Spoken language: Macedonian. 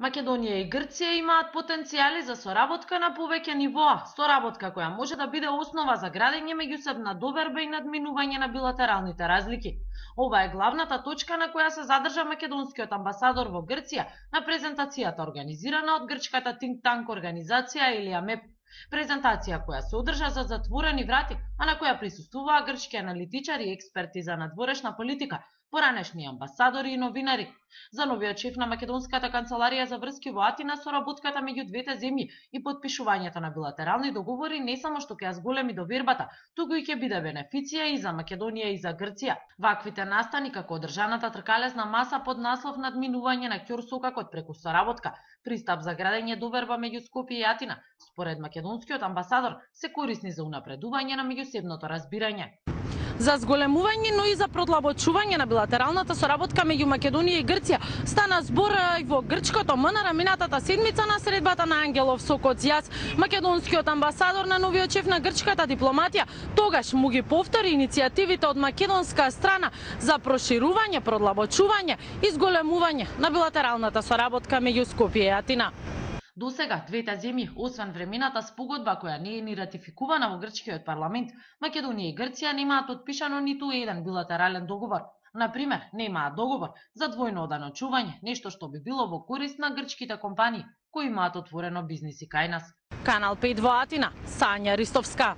Македонија и Грција имаат потенцијали за соработка на повеќе нивоа, соработка која може да биде основа за градење меѓусебна доверба и надминување на билатералните разлики. Ова е главната точка на која се задржа македонскиот амбасадор во Грција на презентацијата организирана од грчката think tank организација Елија Меп. Презентација која се одржа за затворени врати, а на која присуствуваа грчки аналитичари и експерти за надворешна политика, поранешни амбасадори и новинари. За новиот шеф на македонската канцеларија за врски во Атина, соработката меѓу двете земји и потпишувањето на билатерални договори не само што ќе ја зголеми довербата, туку и ќе биде бенефиција и за Македонија и за Грција. Ваквите настани како одржаната тркалезна маса под наслов надминување на ќорсокакот преку соработка, пристап за градење доверба меѓу Скопје и Атина, според македонскиот амбасадор, се корисни за унапредување на меѓусебното разбирање. За зголемување, но и за продлабочување на билатералната соработка меѓу Македонија и Грција стана збор и во грчкото МНР минатата седмица на средбата на Ангелов со Коцијас. Македонскиот амбасадор на новиот шеф на грчката дипломатија тогаш му ги повтори иницијативите од македонска страна за проширување, продлабочување и зголемување на билатералната соработка меѓу Скопје и Атина. Досега, двете земји, освен времената спогодба која не е ни ратификувана во грчкиот парламент, Македонија и Грција немаат подпишано ниту еден билатерален договор. Например, немаат договор за двојно оданочување, нешто што би било во корист на грчките компании кои имаат отворено бизниси кај нас. Канал 5 во Атина, Сања Ристовска.